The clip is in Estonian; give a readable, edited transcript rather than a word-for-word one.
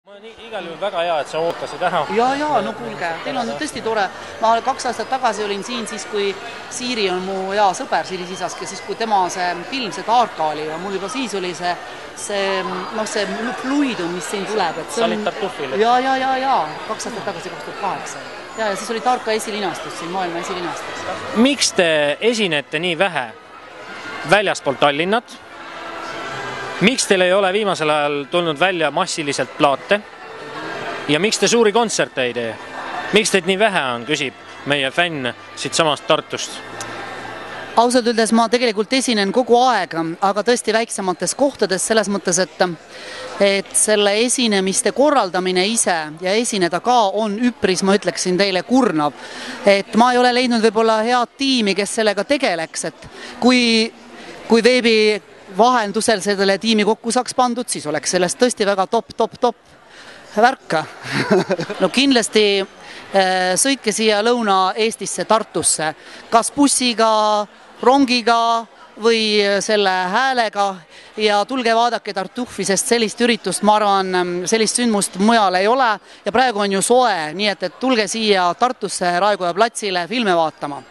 Ma on igal juhul väga hea, et sa ootasid ära. Ja, no kuulge, teil on tõesti tore. Ma 2 aastat tagasi olin siin siis, kui Siiri on mu hea sõber, Siiri Sisask, ja siis kui tema see film, see Taarka oli, ja mul juba siis oli see fluidum, mis siin tuleb. Sa olid Tartufil? Ja, 2 aastat tagasi, 2008. Ja siis oli Taarka esilinastus siin, maailma esilinastus. Miks te esinete nii vähe väljaspool Tallinnat? Miks teil ei ole viimasel ajal tulnud välja massiliselt plaate? Ja miks te suuri kontserte ei tee? Miks teid nii vähe on, küsib meie fänn siit samast Tartust? Ausalt öeldes ma tegelikult esinen kogu aeg, aga tõesti väiksemates kohtades selles mõttes, et selle esinemiste korraldamine ise ja esineda ka on üpris, ma ütleksin teile, kurnav. Et ma ei ole leidnud võib-olla head tiimi, kes sellega tegeleks, et kui veebi vahendusel selle tiimi kokku saaks pandud, siis oleks sellest tõesti väga top värka. No kindlasti sõitke siia Lõuna-Eestisse, Tartusse, kas bussiga, rongiga või selle häälega ja tulge vaadake Tartufi, sest sellist üritust, ma arvan, sellist sündmust mujal ei ole ja praegu on ju soe, nii et tulge siia Tartusse Raekoja platsile filme vaatama.